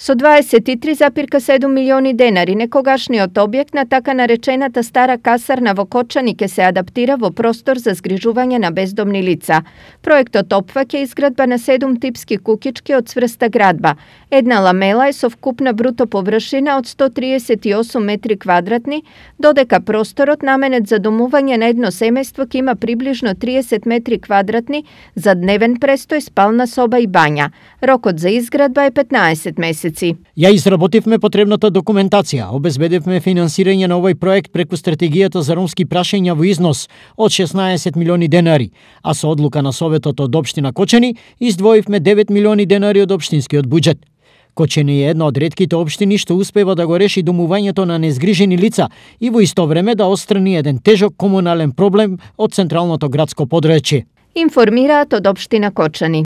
Со 23,7 милиони денари, некогашниот објект на така наречената стара касарна во Кочани ќе се адаптира во простор за згрижување на бездомни лица. Проектот опфаќа изградба на 7 типски куќички од цврста градба. Една ламела е со вкупна бруто површина од 138 метри квадратни, додека просторот наменет за домување на едно семејство ќе има приближно 30 метри квадратни за дневен престој, спална соба и бања. Рокот за изградба е 15 месеци. Ја изработивме потребната документација, обезбедивме финансирање на овој проект преку стратегијата за ромски прашања во износ од 16 милиони денари, а со одлука на Советот од општина Кочани издвоивме 9 милиони денари од општинскиот буџет. Кочани е една од ретките општини што успева да го реши домувањето на незгрижени лица и во исто време да отстрани еден тежок комунален проблем од централното градско подрачје. Информираат од општина Кочани.